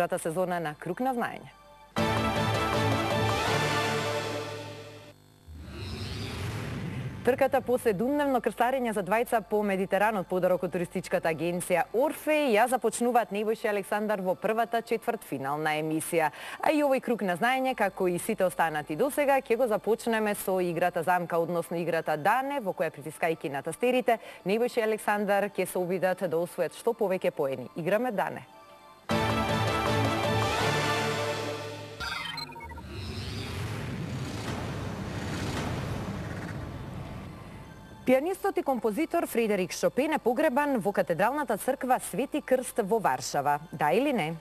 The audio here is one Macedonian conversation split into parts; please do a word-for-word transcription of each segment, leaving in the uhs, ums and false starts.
втората сезона на Круг на знаење. Трката по седумдневно крстарење за двајца по Медитеранот подарок од туристичката агенција Орфеј ја започнуваат Небојша и Александар во првата четвртфинална емисија. А и овој Круг на знаење, како и сите останати досега, ќе го започнеме со играта замка, односно играта Дане, во која притискајќи на тастерите, Небојша и Александар ќе се обидат да освојат што повеќе поени. Играме Дане. Пианистот и композитор Фредерик Шопен е погребан во катедралната црква Свети Крст во Варшава. Да или не?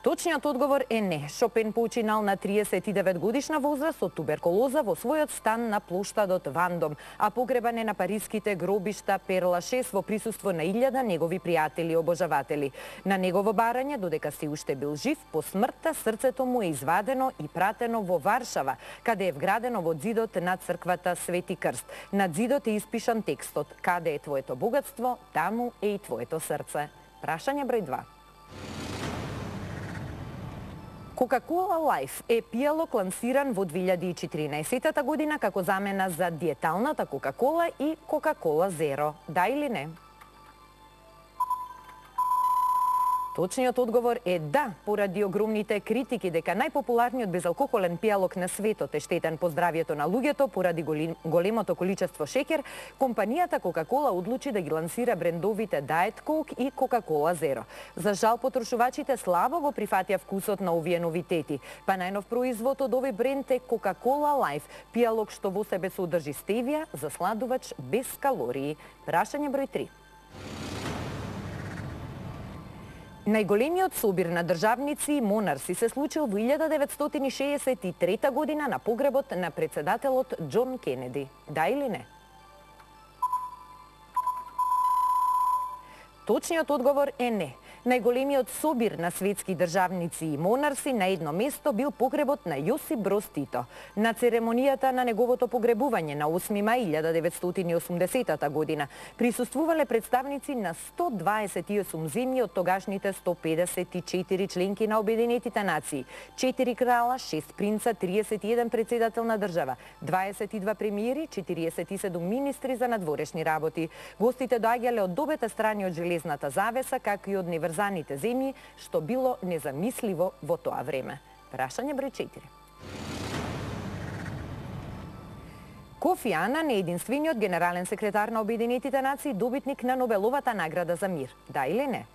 Точниот одговор е не. Шопен починал на триесет и девет годишна возраст од туберкулоза во својот стан на плоштадот Вандом, а погребан е на париските гробишта Пер Лашес во присуство на илјада негови пријатели и обожаватели. На негово барање, додека се уште бил жив, по смртта срцето му е извадено и пратено во Варшава, каде е вградено во ѕидот на црквата Свети Крст. На ѕидот е испишан текстот: "Каде е твоето богатство, таму е и твоето срце." Прашање број два. Coca-Cola Life е пијалок лансиран во две илјади и четиринаесетта година како замена за диеталната Coca-Cola и Coca-Cola Zero. Да или не? Точниот одговор е да, поради огромните критики дека најпопуларниот безалкохолен пијалок на светот е штетен по здравјето на луѓето поради големото количество шеќер, компанијата Coca-Cola одлучи да ги лансира брендовите Diet Coke и Coca-Cola Zero. За жал, потрошувачите слабо го прифатија вкусот на овие новитети, па најнов производ од овој бренд е Coca-Cola Life, пијалок што во себе содржи стевија, засладувач без калории. Прашање број три. Најголемиот собир на државници и монарси се случил во илјада деветстотини шеесет и трета година на погребот на председателот Џон Кенеди. Да или не? Точниот одговор е не. Најголемиот собир на светски државници и монарси на едно место бил погребот на Јосип Броз Тито. На церемонијата на неговото погребување на осми мај илјада деветстотини и осумдесетта година присуствувале представници на сто дваесет и осум земји од тогашните сто педесет и четири членки на Обединетите нации, четири крала, шест принца, триесет и еден председател на држава, дваесет и два премиери, четириесет и седум министри за надворешни работи. Гостите доаѓале од обете страни од железната завеса, како и од неврзаните земји, што било незамисливо во тоа време. Прашање број четири. Кофи Анан е единствениот генерален секретар на Обединетите нации, добитник на Нобеловата награда за мир. Да или не?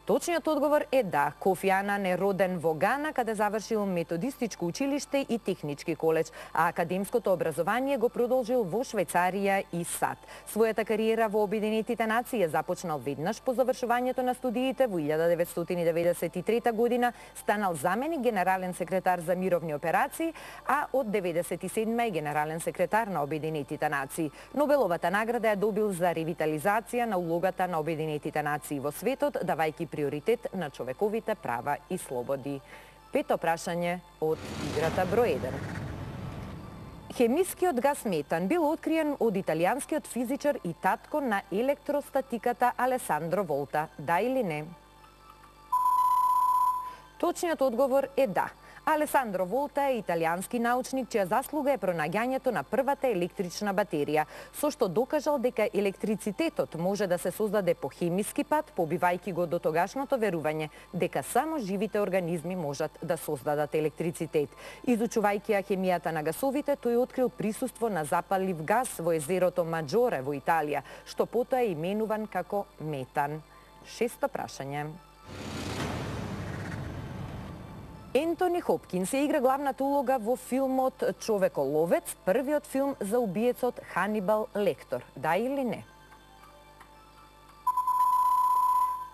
Точниот одговор е да. Кофи Анан е роден во Гана, каде завршил методистичко училиште и технички коледж, а академското образование го продолжил во Швајцарија и САД. Својата кариера во Обединетите нации започнал веднаш по завршувањето на студиите во илјада деветстотини деветдесет и трета година, станал заменик генерален секретар за мировни операции, а од деветдесет и седма е генерален секретар на Обединетите нации. Нобеловата награда ја добил за ревитализација на улогата на Обединетите нации во светот, давајќи приоритет на човековите права и слободи. Пето прашање од играта број еден. Хемискиот гас метан бил откриен од италијанскиот физичар и татко на електростатиката Алесандро Волта. Да или не? Точниот одговор е да. Алесандро Волта е италијански научник чија заслуга е пронаѓањето на првата електрична батерија, со што докажал дека електрицитетот може да се создаде по хемиски пат, побивајќи го до тогашното верување дека само живите организми можат да создадат електрицитет. Изучувајќи ја хемијата на гасовите, тој открил присуство на запалив гас во езерото Маџоре во Италија, што потоа е именуван како метан. Шесто прашање. Ентони Хопкинс се игра главната улога во филмот Човеколовец, првиот филм за убиецот Ханибал Лектор. Да или не?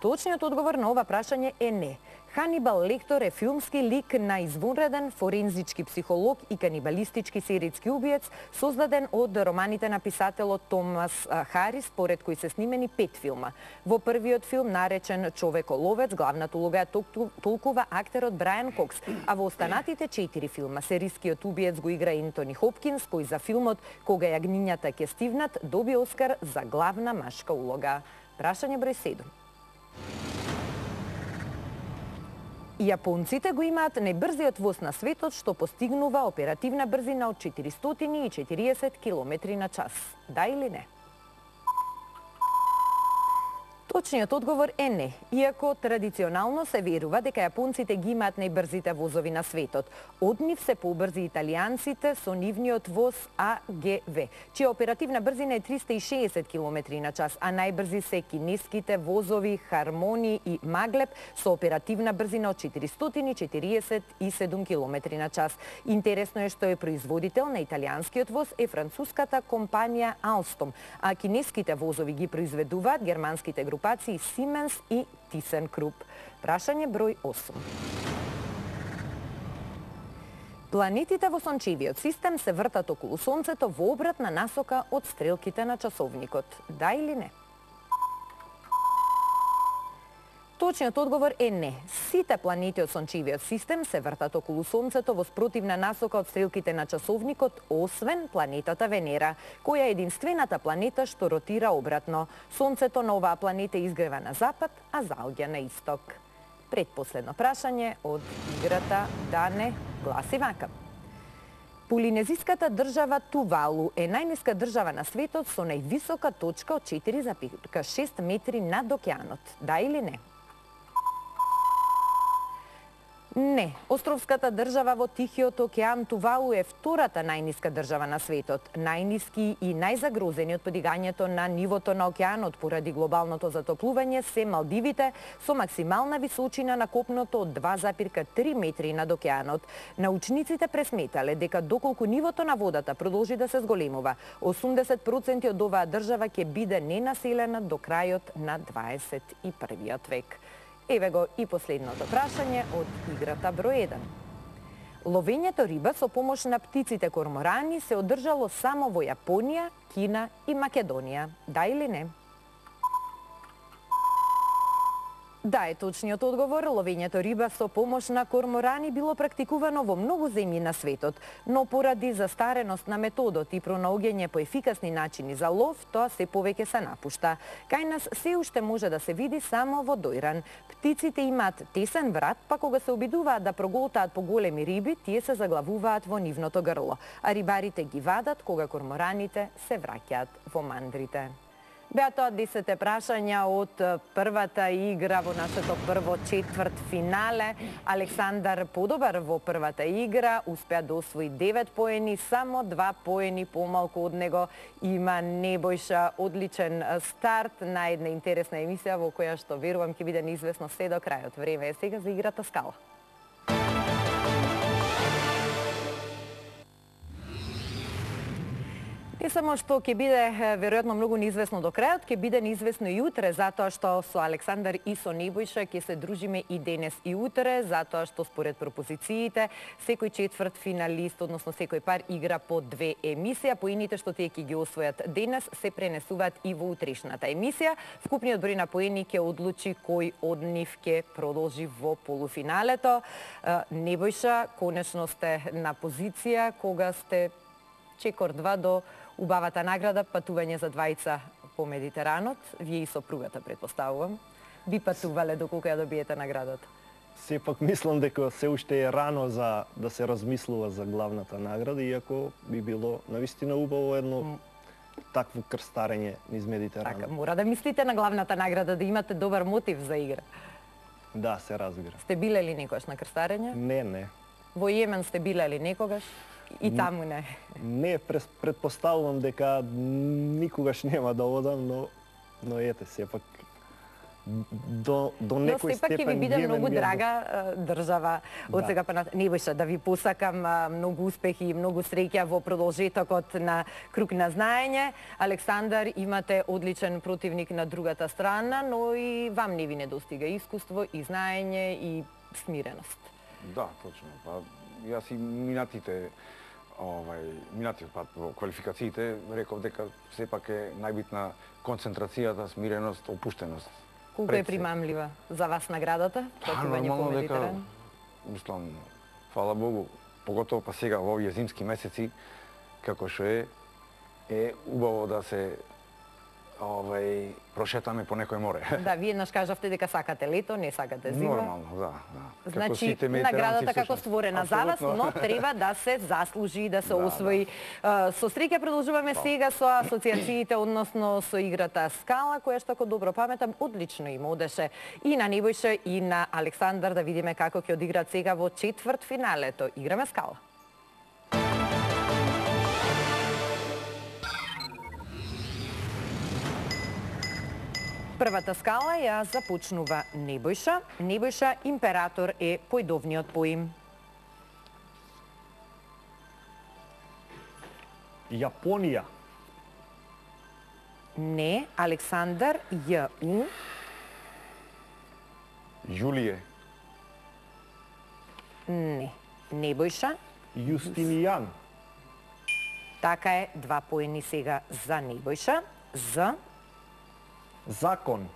Точниот одговор на ова прашање е не. Ханибал Лектор е филмски лик на извонреден форензички психолог и канибалистички серијски убиец, создаден од романите на писателот Томас Харис, според кој се снимени пет филма. Во првиот филм, наречен Човеколовец, главната улога ја толкува актерот Брајан Кокс, а во останатите четири филма серискиот убиец го игра Ентони Хопкинс, кој за филмот Кога јагнињата ќе стивнат доби Оскар за главна машка улога. Прашање број седум. Јапонците го имаат најбрзиот воз на светот, што постигнува оперативна брзина од четиристотини и четириесет километри на час. Да или не? Точниот одговор е не, иако традиционално се верува дека јапонците ги имаат најбрзите возови на светот. Од нив се побрзи италијанците со нивниот воз А Г В, чија оперативна брзина е триста и шеесет километри на час, а најбрзи се кинеските возови Хармони и Маглеб со оперативна брзина од четиристотини четириесет и седум километри на час. Интересно е што е производител на италијанскиот воз е француската компанија Alstom, а кинеските возови ги произведуваат германските групи Siemens и ThyssenKrupp. Прашање број осум. Планетите во сончевиот систем се вртат околу Сонцето во обратна насока од стрелките на часовникот. Да или не? Точниот одговор е не. Сите планети од сончевиот систем се вртат околу Сонцето во спротивна насока од стрелките на часовникот, освен планетата Венера, која е единствената планета што ротира обратно. Сонцето на оваа планета изгрева на запад, а заоѓа на исток. Предпоследно прашање од играта Да не гласи вака. Полинезиската држава Тувалу е најниска држава на светот со највисока точка од четири зарез шест метри над океанот. Да или не? Не, островската држава во Тихиот океан Тувалу е втората најниска држава на светот. Најниски и најзагрозени од подигањето на нивото на океанот поради глобалното затоплување се Малдивите со максимална височина на копното од два зарез три метри над океанот. Научниците пресметале дека доколку нивото на водата продолжи да се зголемува, осумдесет проценти од оваа држава ќе биде ненаселена до крајот на дваесет и првиот век. Еве го и последното прашање од играта број еден. Ловењето риба со помош на птиците корморани се одржало само во Јапонија, Кина и Македонија. Да или не? Да е точниот одговор. Ловењето риба со помош на корморани било практикувано во многу земји на светот, но поради застареност на методот и пронаоѓање по ефикасни начини за лов, тоа се повеќе се напушта. Кај нас се уште може да се види само во дојран. Птиците имаат тесен врат, па кога се обидуваат да проголтаат по големи риби, тие се заглавуваат во нивното грло, а рибарите ги вадат кога кормораните се враќаат во мандрите. Беа тоа десет прашања од првата игра во нашето прво четврт финале. Александар подобар во првата игра, успеа да освои девет поени, само два поени помалку од него има Небојша. Одличен старт на една интересна емисија во која што верувам ќе биде неизвестно се до крајот. Време е сега за играта Скала. Не само што ќе биде веројатно многу неизвестно до крајот, ќе биде неизвестно и утре, затоа што со Александар и со Небојша ќе се дружиме и денес и утре, затоа што според пропозициите секој четврт финалист, односно секој пар игра по две емисија. Поените што тие ќе ги освојат денес се пренесуваат и во утрешната емисија. Вкупниот број на поени ќе одлучи кој од нив ќе продолжи во полуфиналето. Небојша, конечно сте на позиција кога сте чекор два до убавата награда, патување за двајца по Медитеранот. Вие и сопругата, предпоставувам, би патувале доколку ја добиете наградата. Сепак мислам дека се уште е рано за да се размислува за главната награда, иако би било навистина убаво едно такво крстарење низ Медитеранот. Така, мора да мислите на главната награда, да имате добар мотив за игра. Да, се разбира. Сте биле ли некогаш на крстарење? Не, не. Во Јемен сте биле ли некогаш? И таму не. Не, предпоставувам дека никогаш нема да одам, но но ете сепак до до некој степен. Но сепак ќе ви биде многу драга држава од сега па на Небојша, да ви посакам многу успехи и многу среќа во продолжетокот на Круг на знаење. Александар, имате одличен противник на другата страна, но и вам не ви недостига искуство и знаење и смиреност. Да, точно. Па јас и минатите овај минатиот пат во квалификациите реков дека сепак е најбитна концентрацијата, смиреност, опуштеност. Колку е примамлива за вас наградата? Нормално дека, мислам, фала Богу, поготово па сега во овие зимски месеци, како што е, е убаво да се овај прошетаме по некој море. Да, вие еднаш кажавте дека сакате лето, не сакате зима. Нормално, да, да. Значи, наградата како створена за вас, но треба да се заслужи, да се Да, освои. Со среќа продолжуваме сега со асоциациите, односно со играта Скала, која што, ако добро паметам, одлично им одеше и на Небојша и на Александар. Да видиме како ќе одиграат сега во четврт финалето. Играме Скала. Првата скала ја започнува Небојша. Небојша император е појдовниот поим. Јапонија. Не, Александар, Ј, У. Јулије. Не, Небојша. Јустинијан. Така е, два поени сега за Небојша. З. Закон.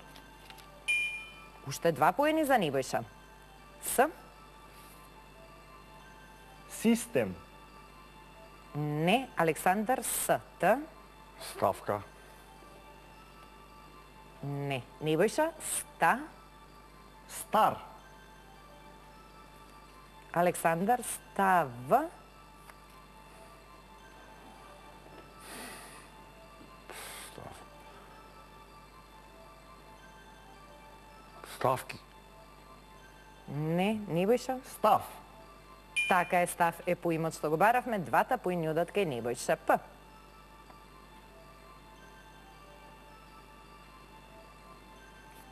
Уште два поени за Небојша. С. Систем. Не, Александар, С. Т. Ставка. Не, Небојша, Ста. Стар. Александар, Став. Ставки. Не, Небојша. Став. Така е, Став е поимот што го баравме, двата поени одат кај Небојша. П.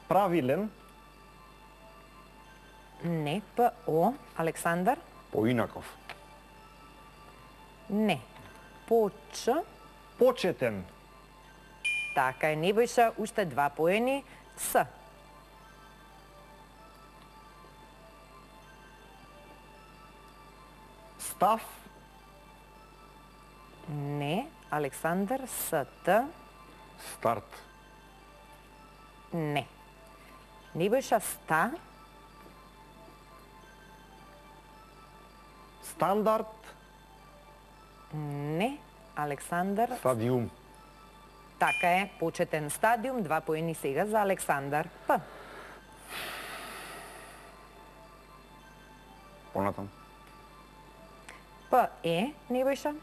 Правилен. Не, П. О. Александар. Поинаков. Не. Поч. Почетен. Така е, Небојша, уште два поени. С. Став. Не, Александар, С. Т. Старт. Не. Небојша, Ста. Стандард. Не, Александар. Стадиум. Така е, почетен стадиум, два поени сега за Александар. П. Понатам. П е, Небојша.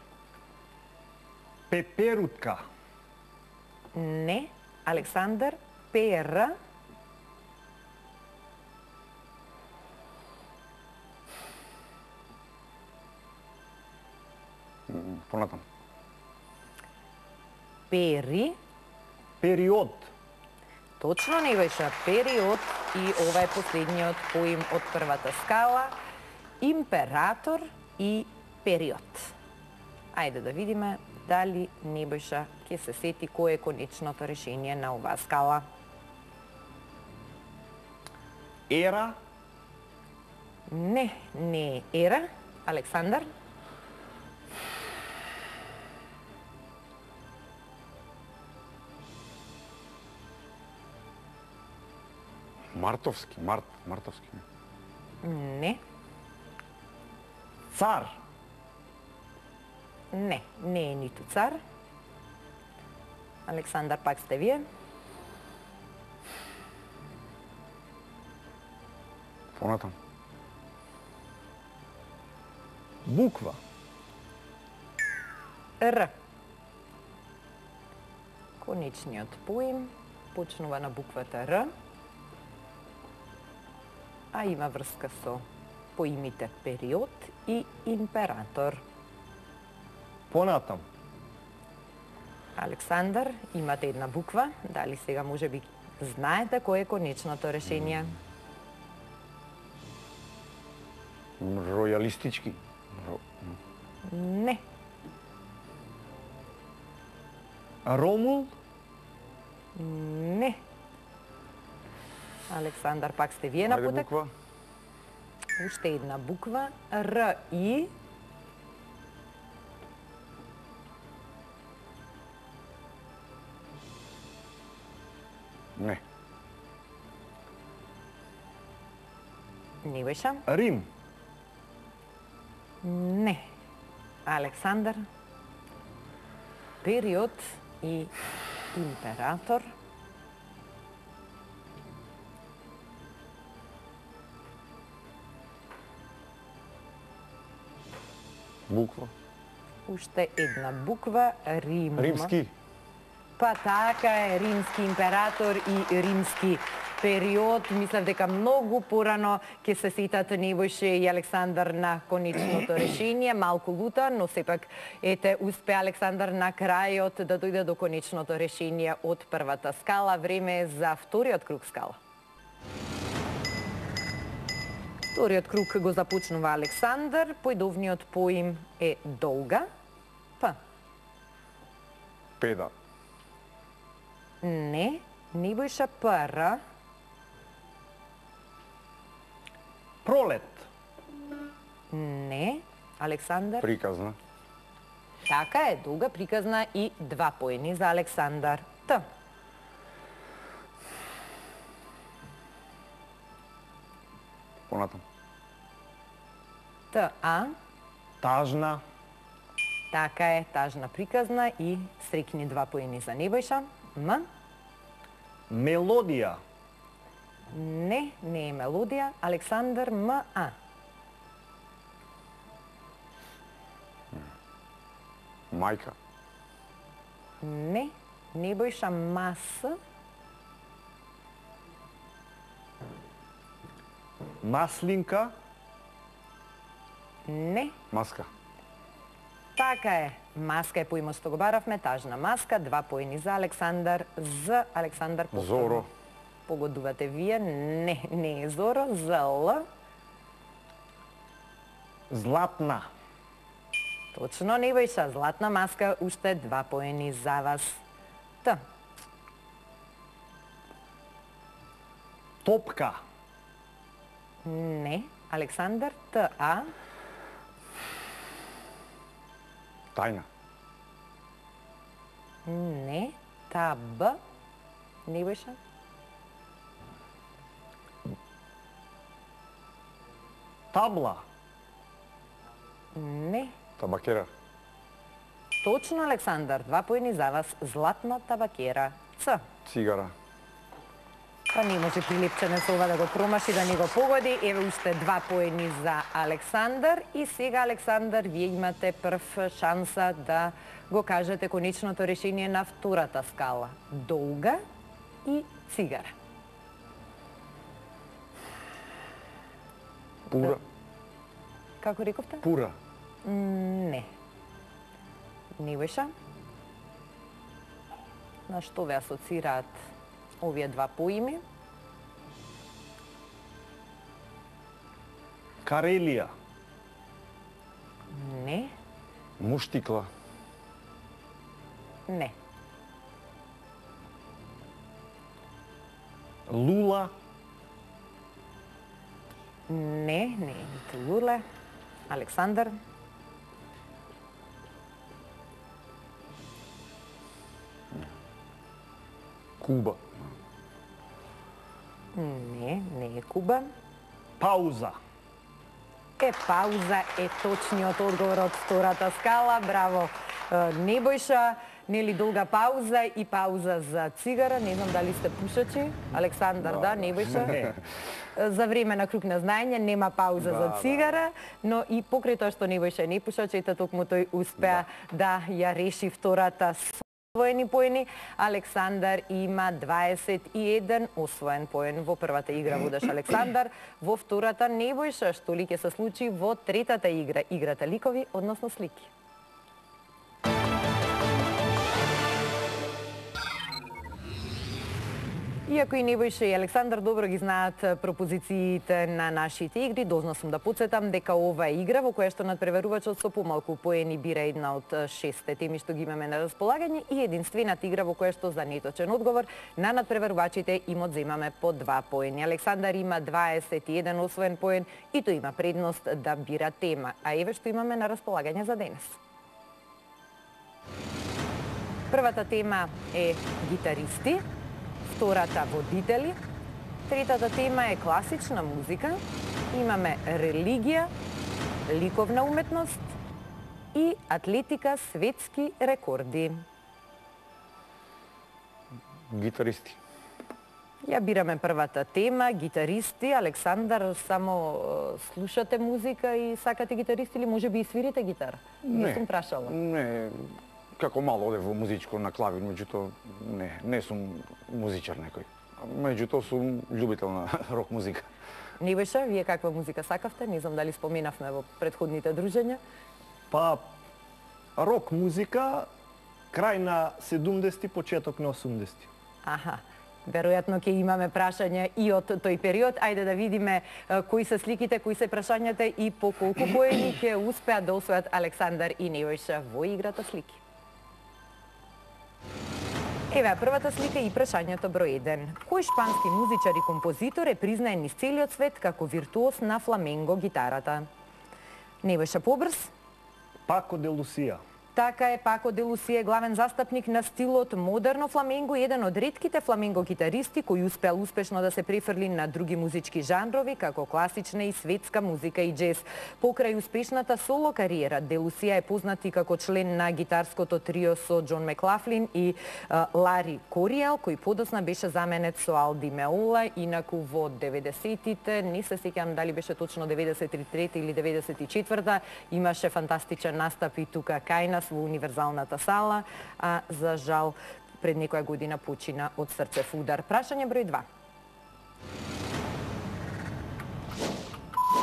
Пеперутка. Не, Александар. Пер. Понатам. Пери. Период. Точно, Небојша, период. И ова е последниот поим од првата скала. Император и период. Ајде да видиме дали Небојша ќе се сети кој е конечното решение на оваа скала. Ера. Не, не е ера. Александар. Мартовски. Март. Мартовски. Не, Цар. не, не е ниту цар. Александар, пак сте вие. Понатам. Буква. Р. Конечниот поим почнува на буквата Р, а има врска со поимите период и император. Понатам. Александар, имате една буква. Дали сега може би знаете кој е конечното решение? Ројалистички. Ро... Не. Ромул. Не. Александар, пак сте вие на Ајде путек. буква. Уште една буква. Р и... Не. Небојша? Рим. Не. Александар? Период и император. Буква. Уште една буква, Рим. Римски. Па така е, римски император и римски период. Мислев дека многу порано ќе се сетат Небојше и Александар на конечното решение. Малку лута, но сепак ете успе Александар на крајот да дојде до конечното решение од првата скала. Време е за вториот круг скала. Вториот круг го започнува Александар. Појдовниот поим е долга. П. Педа. Не. Небојша Р. Пролет. Не. Александар. Приказна. Така е, долга, приказна и два поени за Александар. Т. Понатам. Т. А. Тажна. Така е, тажна, приказна и срекни два поени за Небојша. М. Мелодија. Не, не е мелодија. Александар М. А. Мајка. Не. Небојша Мас. Маслинка. Не. Маска. Така е. Маска е поимот што го баравме, тажна маска, два поени за Александар, за Александар повторно. Зоро. Погодувате вие, не, не е Зоро, за Л. Златна. Точно, Небојша, златна маска, уште два поени за вас. Т. Топка. Не, Александар, Т. А. Тајна. Не, Та. Б. Небојша. Табла. Не. Табакера. Точно, Александар, два поени за вас, златна табакера. Ц. Цигара. Па не може прилепченец ова да го промаши, да не го погоди. Еве уште два поени за Александар. И сега, Александар, вие имате прв шанса да го кажете конечното решение на втората скала. Долга и цигара. Пура. Како рековте? Пура. Не. Небојша? На што ве асоцираат овие два поими? Карелија. Не. Муштикла. Не. Лула. Не, не е ниту луле. Александар? Куба. Не, не е Куба. Пауза. Е, пауза е точниот одговор од втората скала. Браво, Небојша. Нели долга пауза и пауза за цигара. Не знам дали сте пушачи. Александар, да, Небојша. За време на круг на знаење нема пауза да, за цигара, да. но и покрај тоа што Небојша не пушач, ете токму тој успеа да. да ја реши втората освоени поени. Александар има дваесет и еден освоен поен во првата игра, водеш Александар. Во втората Небојша, што ли ќе се случи во третата игра, играта ликови, односно слики. Иако и Небојша и Александар добро ги знаат пропозициите на нашите игри, должна сум да подсетам дека ова е игра во која што надпреварувачот со помалку поени бира една од шестте теми што ги имаме на располагање и единствената игра во која што за неточен одговор на надпреварувачите им одземаме по два поени. Александар има дваесет и еден освоен поен и тој има предност да бира тема. А еве што имаме на располагање за денес. Првата тема е гитаристи, втората водители, третата тема е класична музика, имаме религија, ликовна уметност и атлетика, светски рекорди. Гитаристи. Ја бираме првата тема, гитаристи. Александар, само слушате музика и сакате гитаристи или може би и свирите гитара? Не. Не сум прашала. Не, како мало одев во музичко на клавир, меѓутоа не, не сум музичар некој. Меѓутоа сум љубител на рок музика. Небојша, вие каква музика сакавте? Не знам дали споменавме во претходните дружења. Па, рок музика, крај на седумдесети, почеток на осумдесети. Аха. Веројатно ќе имаме прашања и од тој период. Ајде да видиме кои се сликите, кои се прашањата и по колку поени ќе успеат да освојат Александар и Nebojša во играта слики. Еве првата слика и прашањето број еден. Кој шпански музичар и композитор е признаен низ целиот свет како виртуоз на фламенго гитарата? Nebojša, побрз? Пако де Лусија. Така е, Пако де Лусија е главен застапник на стилот модерно фламенго, еден од ретките фламенго гитаристи кој успеал успешно да се префрли на други музички жанрови, како класична и светска музика и джез. Покрај успешната соло кариера, де Лусија е познат и како член на гитарското трио со Џон Маклафлин и а, Лари Кориел, кој подосна беше заменет со Алди Меола, инаку во деветдесетите, не се сеќавам дали беше точно деветдесет и трета или деветдесет и четврта, имаше фантастичен настап и тука кај нас во Универзалната сала, а за жал пред некоја година почина од срцев удар. Прашање број два.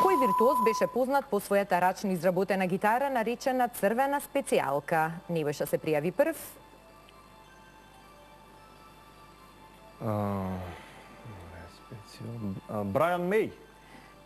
Кој виртуоз беше познат по својата рачно изработена гитара наречена црвена специјалка? Nebojša се пријави прв. Брайан Меј.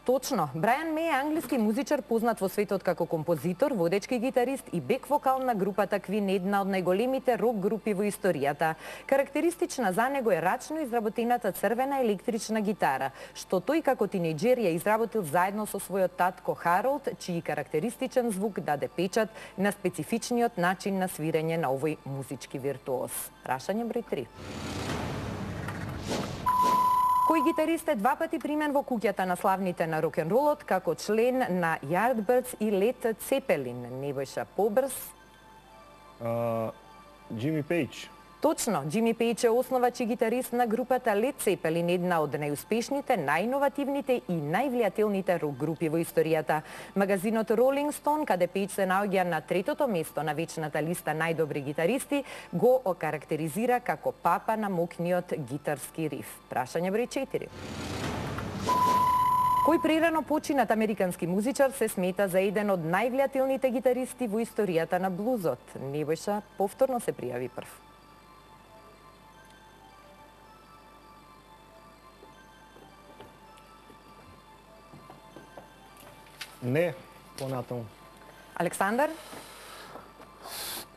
Точно, Брайан Меј е англиски музичар познат во светот како композитор, водечки гитарист и бек вокал на групата Queen, една од најголемите рок групи во историјата. Карактеристична за него е рачно изработената црвена електрична гитара, што тој како тинејџер ја изработил заедно со својот татко Харолд, чиј карактеристичен звук даде печат на специфичниот начин на свирење на овој музички виртуоз. Прашање број три. Кој гитарист е два пати примен во куќата на славните на рок-н-ролот како член на Yardbirds и Led Zeppelin? Nebojša, побрз. Џими Пејдж. Точно, Џими Пејдж е основач и гитарист на групата Led Zeppelin, една од најуспешните, најиновативните и највлијателните рок групи во историјата. Магазинот Rolling Stone, каде Пејдж се наоѓа на третото место на вечната листа најдобри гитаристи, го окарактеризира како папа на мокниот гитарски риф. Прашање број четири. Кој прерано починат американски музичар се смета за еден од највлијателните гитаристи во историјата на блузот? Nebojša повторно се пријави прв. Не, понатаму. Александар?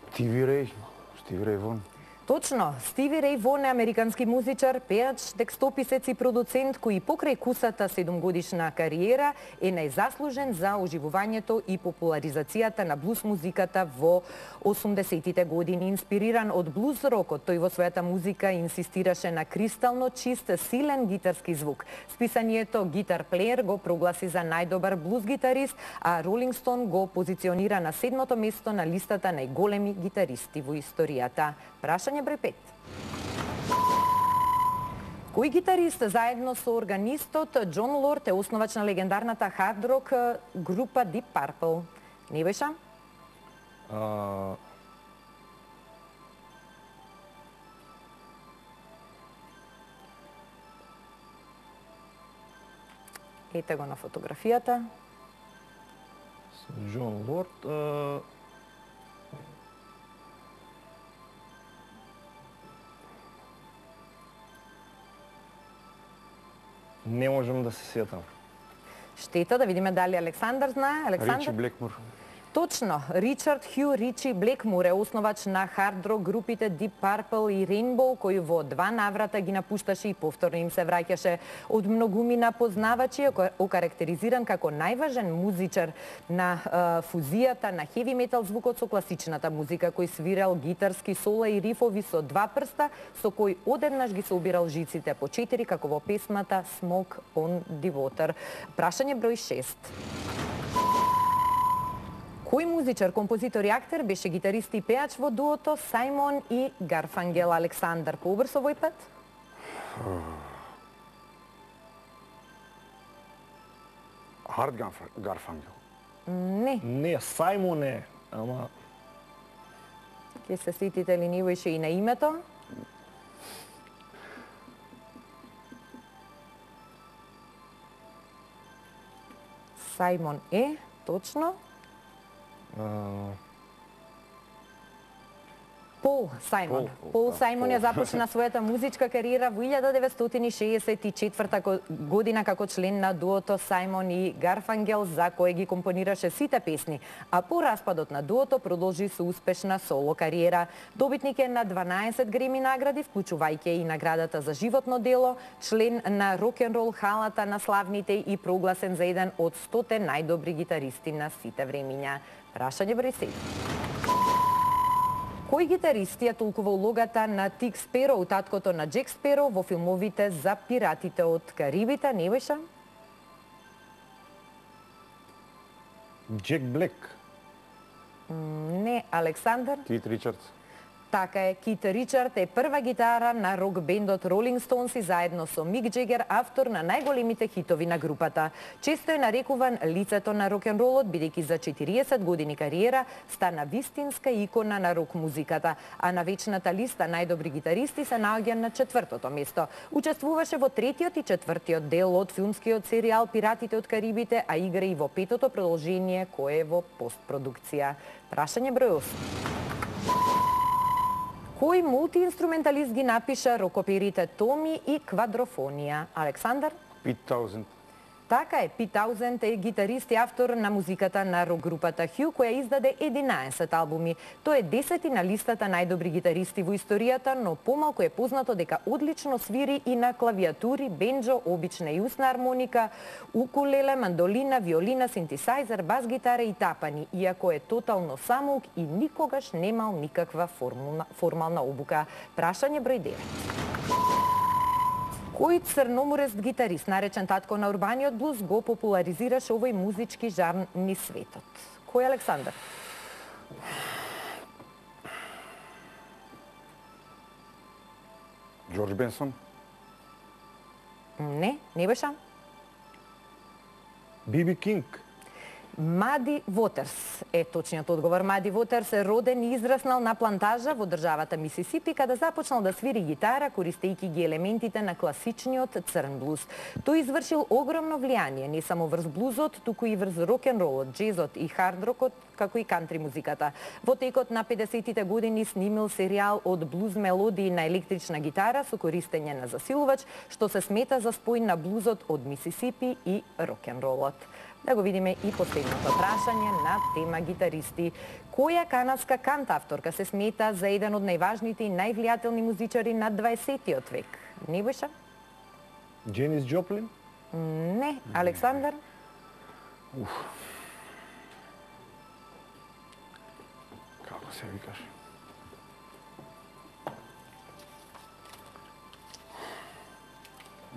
Стиви Реј, Стиви Реј Вон. Точно, Стиви Реј Вон е американски музичар, пеач, текстописец и продуцент кој покрај кусата седумгодишна кариера е најзаслужен за оживувањето и популаризацијата на блуз музиката во осумдесетите години. Инспириран од блуз рокот, тој во својата музика инсистираше на кристално чист, силен гитарски звук. Списанието Guitar Player го прогласи за најдобар блуз гитарист, а Rolling Stone го позиционира на седмото место на листата најголеми гитаристи во историјата. Прашање број пет. Кој гитарист заедно со органистот Џон Лорд е основач на легендарната хард рок група Deep Purple? Nebojša? А... Ете го на фотографијата. Со Џон Лорд... А... Не можам да се сетам. Штета, да видиме дали Александар знае. Александар? Ричи Блекмур. Точно, Ричард Хју Ричи Блекмур е основач на хард рок групите Deep Purple и Rainbow, кој во два наврата ги напушташе и повторно им се враќаше. Од многумина познавачи е окарактеризиран како најважен музичар на е, фузијата на хеви метал звукот со класичната музика, кој свирал гитарски сола и рифови со два прста, со кој одеднаш ги собирал жиците по четири, како во песмата Smoke on the Water. Прашање број шест. Кој музичар, композитор и актер беше гитарист и пеач во дуото Сајмон и Гарфангел? Александар, побрз овој пат? Хард Гарфангел. Не. Не, Сајмон е, ама... Ке се сетите ли него ише и на името? Сајмон е, точно. А, Пол Сајмон. Пол, Пол да, Сајмон ја Пол. започна својата музичка кариера во илјада деветстотини шеесет и четврта година како член на дуото Сајмон и Гарфангел, за кој ги компонираше сите песни, а по распадот на дуото продолжи со успешна соло кариера. Добитник е на дванаесет Греми награди, вклучувајќи и наградата за животно дело, член на рок-н-рол халата на славните и прогласен за еден од стоте најдобри гитаристи на сите времиња. Прашање број седум. Кој гитарист ја толкува улогата на Тик Спероу, таткото на Джек Спероу, во филмовите за пиратите од Карибите? Не беше? Джек Блек. Не, Александар. Кит Ричардс. Така е, Кит Ричард е прва гитара на рок-бендот Ролинг Стоунс и заедно со Мик Джегер, автор на најголемите хитови на групата. Често е нарекуван лицето на рок-н-ролот, бидејќи за четириесет години кариера стана вистинска икона на рок-музиката, а на вечната листа најдобри гитаристи се наоѓа на четвртото место. Учествуваше во третиот и четвртиот дел од филмскиот серијал Пиратите од Карибите, а игра и во петото продолжение кое е во постпродукција. Прашање број осум. Кој мултиинструменталист ги напиша рокоперите Томи и Квадрофонија? Александар? Пит Таузенд. Така е, Пит Таузенд е гитарист и автор на музиката на рок-групата Хю, која издаде единаесет албуми. Тој е десети на листата најдобри гитаристи во историјата, но помалку е познато дека одлично свири и на клавиатури, бенџо, обична и усна армоника, укулеле, мандолина, виолина, синтесајзер, бас-гитара и тапани, иако е тотално самоук и никогаш немал никаква формална, формална обука. Прашање број девет. Кој црноморест гитарист, наречен татко на урбаниот блуз, го популаризираше овој музички жанр низ светот? Кој Александар? Джордж Бенсон. Не, не беше. Би Би Кинг. Мади Вотерс е точниот одговор. Мади Вотерс е роден и израснал на плантажа во државата Мисисипи, каде започнал да свири гитара, користејќи ги елементите на класичниот црн блуз. Тој извршил огромно влијание не само врз блузот, туку и врз рок-н-ролот, джезот и хард-рокот, како и кантри музиката. Во текот на педесетите години снимил серијал од блуз мелодии на електрична гитара со користење на засилувач, што се смета за спој на блузот од Мисисипи и рок-н-ролот. Да го видиме и последното прашање на тема гитаристи. Која канадска кантавторка се смета за еден од најважните и највлијателни музичари на дваесеттиот век? Не беше? Дженис Джоплин? Не. Александар? Уф. Како се викаш?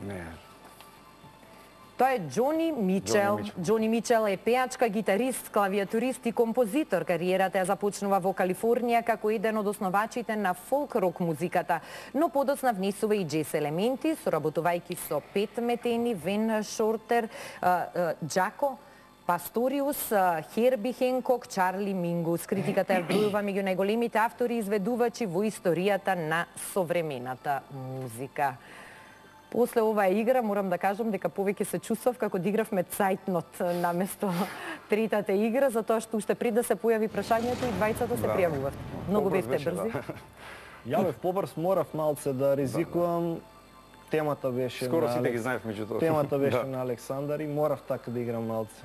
Не. Тоа е Џони Мичел. Џони Мичел е пеачка, гитарист, клавиатурист и композитор. Кариерата ја започнува во Калифорнија како еден од основачите на фолк-рок музиката, но подоцна внесува и джез елементи, соработувајќи со Пет Метени, Вен Шортер, Џако Пасториус, Херби Хенкок, Чарли Мингус. Критиката ја вбројува меѓу најголемите автори и изведувачи во историјата на современата музика. После оваа игра морам да кажам дека повеќе се чувствав како да игравме цајтнот наместо третата игра, затоа што уште пред да се појави прашањето и двајцата се пријавуват. Многу бевте брзи. Ја бев побрз, морав малце да ризикувам. Темата беше Скоро на сите ги Алекс... знаев меѓутоа. Темата беше Да. на Александар и морав така да играм малце.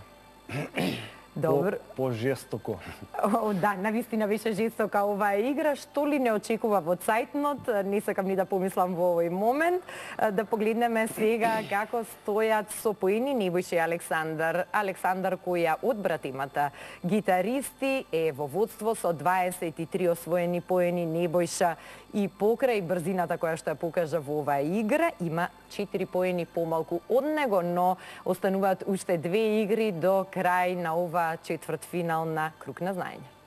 Добро. По, по жестоко. О, да, навистина беше жестока оваа игра, што ли не очекува во цајтнот, не сакам ни да помислам во овој момент. Да погледнеме сега како стојат со поени Небојша и Александар. Александар кој ја одбра темата гитаристи е во водство со дваесет и три освоени поени. Небојша и покрај брзината која што ја покажа во оваа игра има четири поени помалку од него, но остануваат уште две игри до крај на ова оваа четвртфинал на Круг на знаење.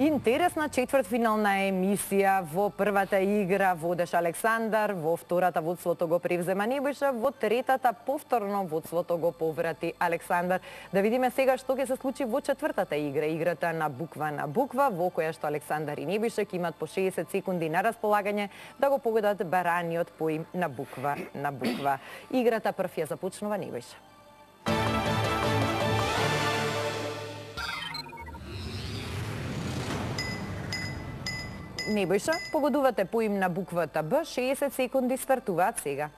Интересна четвртфинална емисија. Во првата игра водеш Александар, во втората водството го превзема Небојша, во третата повторно водството го поврати Александар. Да видиме сега што ќе се случи во четвртата игра, играта на буква на буква, во која што Александар и Небојша ќе имат по шеесет секунди на располагање да го погодат бараниот поим на буква на буква. Играта прв ја започнува Небојша. Небојша, погодувате поим на буквата Б, шеесет секунди стартуваат сега.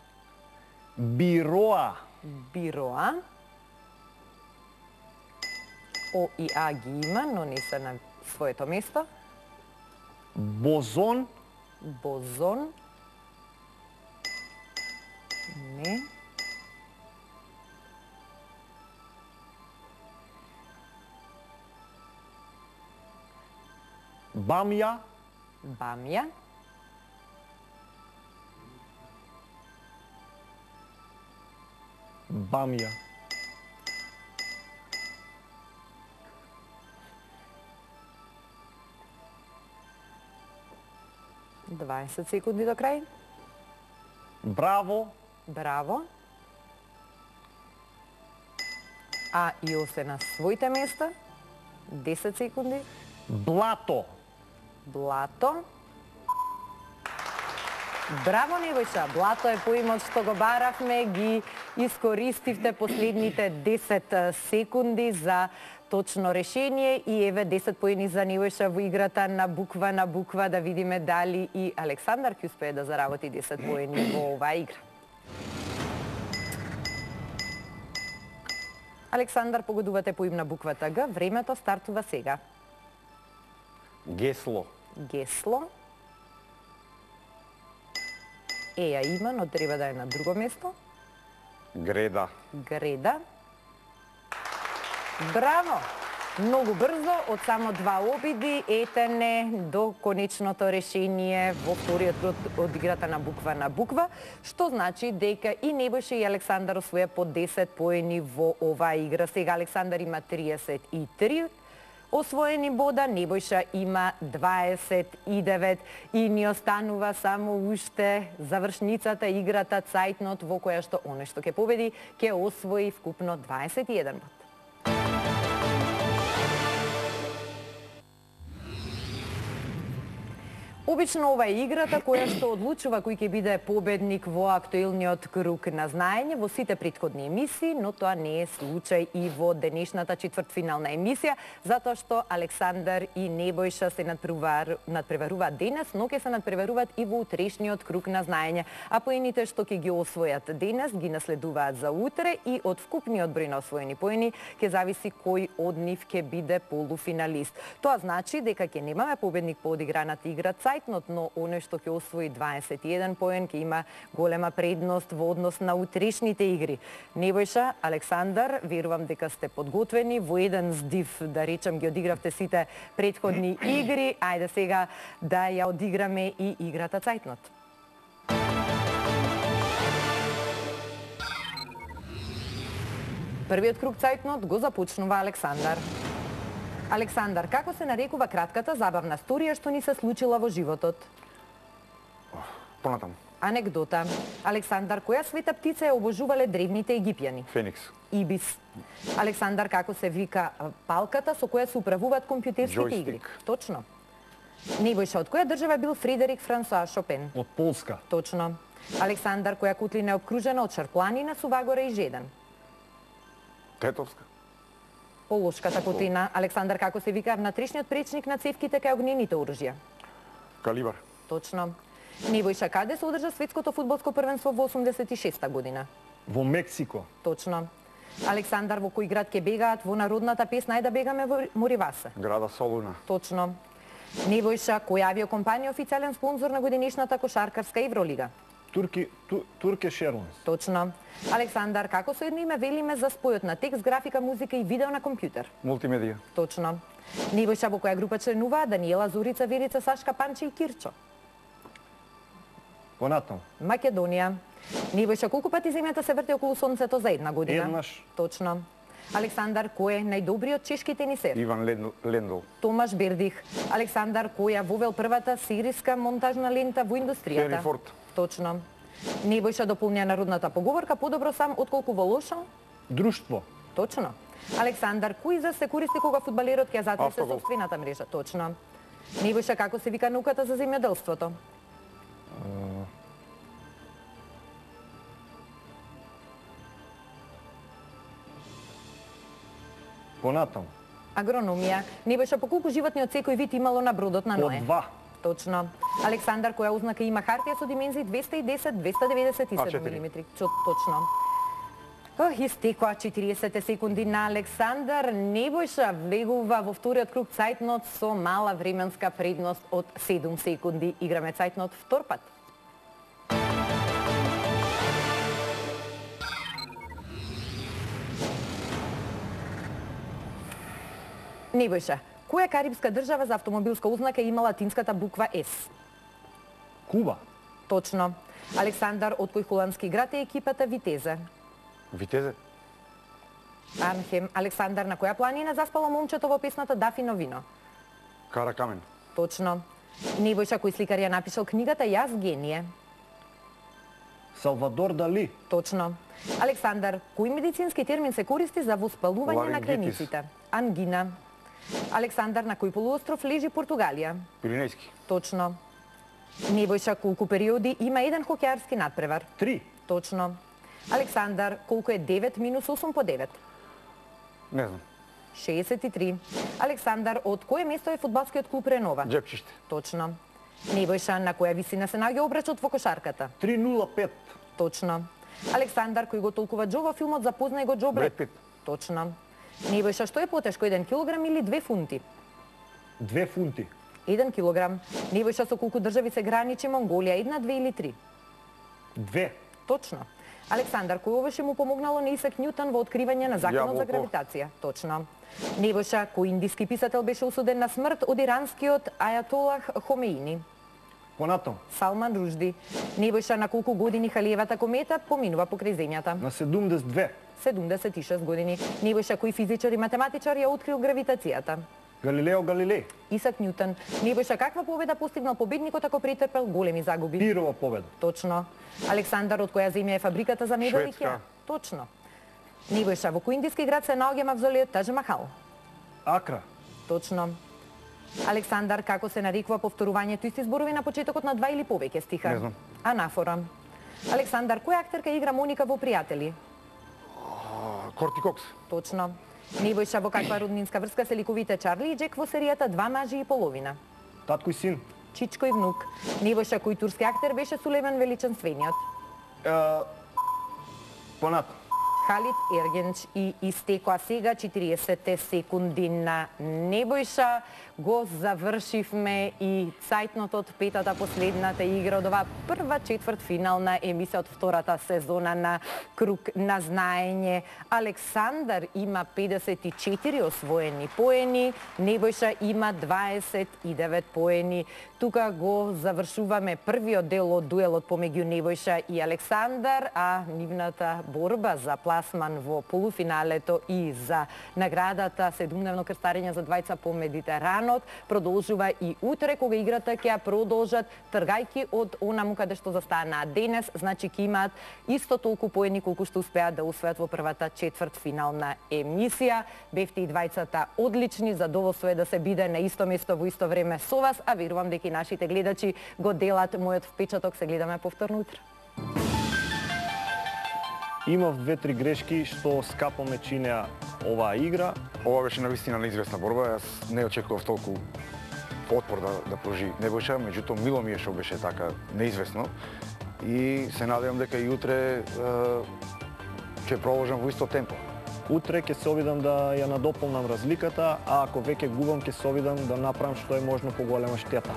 Бироа. Бироа. О и А ги има, но не се на своето место. Бозон. Бозон. Не. Бамја. Бамја. Бамја. дваесет секунди до крај. Браво. Браво. А и О се на своите места. десет секунди. Блато. Блато. Браво, Небојша! Блато е поимот што го баравме, ги искористивте последните десет секунди за точно решение и еве десет поени за Небојша во играта на буква на буква, да видиме дали и Александар ќе успее да заработи десет поени во оваа игра. Александар, погодувате поим на буквата Г, времето стартува сега. Гесло. Гесло. Е, ја има, но треба да е на друго место. Греда. Греда. Браво! Многу брзо, од само два обиди, етене до конечното решение во вториот круг од играта на буква на буква, што значи дека и Небојша и Александар освоја по десет поени во оваа игра. Сега Александар има триесет и три освоени бода, Небојша има дваесет и девет и ни останува само уште завршницата, играта цајтнот во која што оној што ќе победи ќе освои вкупно дваесет и еден бод. Обично ова е играта која што одлучува кој ќе биде победник во актуелниот круг на знаење во сите претходни емисии, но тоа не е случај и во денешната четвртфинална емисија, затоа што Александар и Небојша се надпреваруваат денес, но ќе се надпреваруваат и во утрешниот круг на знаење, а поените што ќе ги освојат денес ги наследуваат за утре и од вкупниот број на освоени поени ќе зависи кој од нив ќе биде полуфиналист. Тоа значи дека ќе немаме победник по одиграната игра цајтнот, но оној што ќе освои дваесет и еден поен ќе има голема предност во однос на утрешните игри. Небојша, Александар, верувам дека сте подготвени, во еден здив, да речем, ги одигравте сите претходни игри. Ајде сега да ја одиграме и играта цајтнот. Првиот круг цајтнот го започнува Александар. Александар, како се нарекува кратката забавна сторија што ни се случила во животот? Понатам. Анекдота. Александар, која света птица ја обожувале древните египјани? Феникс. Ибис. Александар, како се вика палката со која се управуваат компјутерските игри? Точно. Небојша, од која држава бил Фредерик Франсоа Шопен? Од Полска. Точно. Александар, која котлина е обкружена од шарпланина, Сувагора и Жедан? Тетовска. Полошката котлина. Александар, како се вика внатрешниот пречник на цевките кај огнените оружја? Калибар. Точно. Небојша, каде се одржа светското фудбалско првенство во осумдесет и шеста година? Во Мексико. Точно. Александар, во кој град ќе бегаат во народната песна Ајде да бегаме во Моривасе? Града Солуна. Точно. Небојша, која авиокомпанија е официјален спонзор на годинешната кошаркарска Евролига? Турки, ту, Туркеш Ерлинс. Точно. Александар, како со едно име велиме за спојот на текст, графика, музика и видео на компјутер? Мултимедија. Точно. Небојша, во која група членува Даниела, Зорица, Верица, Сашка, Панче и Кирчо? Понатам. Македонија. Небојша, колку пати земјата се врти околу сонцето за една година? Еднаш. Точно. Александар, кој е најдобриот чешки тенисер? Иван Лендл. Томаш Бердих. Александар, кој ја вовел првата серијска монтажна лента во индустријата? Хенри Форд. Точно. Небојша, дополня народната поговорка, подобро сам отколку во лошо? Друштво. Точно. Александар, кој израз се користи кога фудбалерот ќе затресе Автогол. сопствената мрежа? Точно. Небојша, како се вика науката за земјоделството? Понатаму. Агрономија. Небојша, по колку животни од секој вид имало на бродот на По Ное? два. Точно. Александар, која ознака има хартија со димензии двесте и десет, двесте деветдесет и седум А четири. милиметри? Чо- Точно. Ох, истекоа четириесет секунди на Александар. Небојша влегува во вториот круг цајтнот со мала временска предност од седум секунди. Играме цајтнот втор пат. Небојша, која карибска држава за автомобилска ознака има латинската буква С? Куба. Точно. Александар, од кој холандски град е екипата Витезе? Витезе. Анхем. Александар, на која планина заспало момчето во песната Дафино вино? Каракамен. Точно. Небојша, кој сликар ја напишал книгата Јас гение? Салвадор Дали. Точно. Александар, кој медицински термин се користи за воспалување на Ларингитис. крениците? Ангина. Александар, на кој полуостров лежи Португалија? Пиринејски. Точно. Небојша, колку периоди има еден хокеарски надпревар? Три. Точно. Александар, колку е девет минус осум по девет? Не знам. шеесет и три. Александар, од кое место е фудбалскиот клуб Ренова? Джепчиште. Точно. Небојша, на која висина се наоѓа обрачот во кошарката? три нула пет. Точно. Александар, кој го толкува Џо во филмот Запознај го Џо Бред? Бред Пит. Точно. Небојша, што е потешко, еден килограм или две фунти? Две фунти. еден килограм. Небојша, со колку држави се граничи Монголија? Една, две или три? Две. Точно. Александар, кој овоше му помогнало на Исак Њутон во откривање на законот за Јаболко. гравитација? Точно. Небојша, кој индиски писател беше осуден на смрт од иранскиот ајатолах Хомеини? Понатаму. Салман Ружди. Небојша, на колку години Халиевата комета поминува покрај земјата? На седумдесет и две. седумдесет и шест години. Небојша, кој физичар и математичар ја открил гравитацијата? Галилео Галилеј. Исак Њутон. Небојша, каква победа постигнал победникот ако претрпел големи загуби? Пирова победа. Точно. Александар, од која земја е фабриката за мебел Шведска. Икеа? Точно. Небојша, во кој индиски град се наоѓа мавзолеот Тадж Махал? Акра. Точно. Александар, како се нарекува повторувањето исти зборови на почетокот на два или повеќе стиха? Не знам. Анафора. Александар, која актерка игра Моника во Пријатели? Корти Кокс. Точно. Небојша, во каква роднинска врска се ликовите Чарли и Джек во серијата Два мажи и половина? Татко и син. Чичко и внук. Небојша, кој турски актер беше Сулейман Величанствениот? Е, Понатаму. Халид Ергенч и истекоа сега четириесет секунди на Небојша. Го завршивме и цајтнот од петата последната игра од оваа прва четвртфинална емисија од втората сезона на Круг на знаење. Александар има педесет и четири освоени поени, Небојша има дваесет и девет поени. Тука го завршуваме првиот дел од дуелот помеѓу Небојша и Александар, а нивната борба за пласман во полуфиналето и за наградата седумдневно крстарење за двајца по Медитеранот продолжува и утре, кога играта ќе ја продолжат тргајки од онаму каде што застанаа денес, значи ќе имаат исто толку поени колку што успеат да усвојат во првата четвртфинална емисија. Бевте и двајцата одлични, задоволство е да се биде на исто место во исто време со вас, а верувам дека и нашите гледачи го делат мојот впечаток. Се гледаме повторно утре. Имав две-три грешки што скапо ме чинеа оваа игра. Ова беше навистина неизвестна борба. Јас не очекував толку отпор да, да прожи Небојша, меѓутоа мило ми е што беше така неизвестно. И се надевам дека и утре е, ќе продолжам во исто темпо. Утре ќе се обидам да ја надополнам разликата, а ако веќе губам ќе се обидам да направам што е можно поголема штета.